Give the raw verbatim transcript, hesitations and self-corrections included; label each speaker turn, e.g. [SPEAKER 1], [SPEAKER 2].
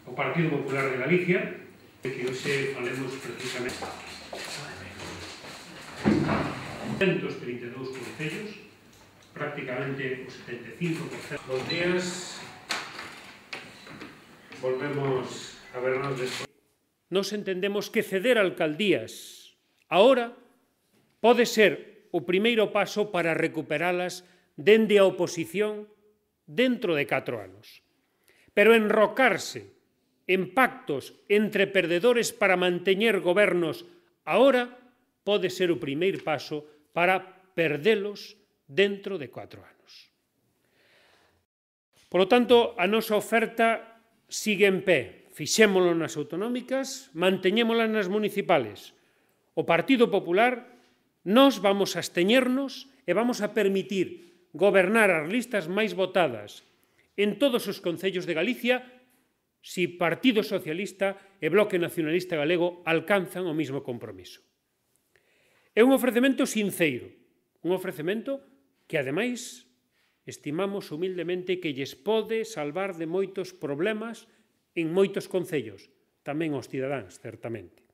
[SPEAKER 1] O Partido Popular de Galicia, que hoxe falemos precisamente ciento trinta e dous concellos, prácticamente o setenta e cinco por cento. Bos días, volvemos a vernos despois. Nos entendemos que ceder alcaldías agora pode ser o primeiro paso para recuperalas dende a oposición dentro de catro anos. Pero enrocarse en pactos entre perdedores para manteñer gobernos agora pode ser o primeiro paso para perdelos dentro de cuatro anos. Por lo tanto, a nosa oferta sigue en pé. Fixémolo nas autonómicas, manteñémolas nas municipales. O Partido Popular, nós vamos a absteñernos e vamos a permitir gobernar as listas máis votadas en todos os concellos de Galicia si Partido Socialista e Bloque Nacionalista Galego alcanzan o mismo compromiso. É un ofrecemento sinceiro, un ofrecemento que, ademais, estimamos humildemente que lles pode salvar de moitos problemas en moitos concellos, tamén aos cidadáns, certamente.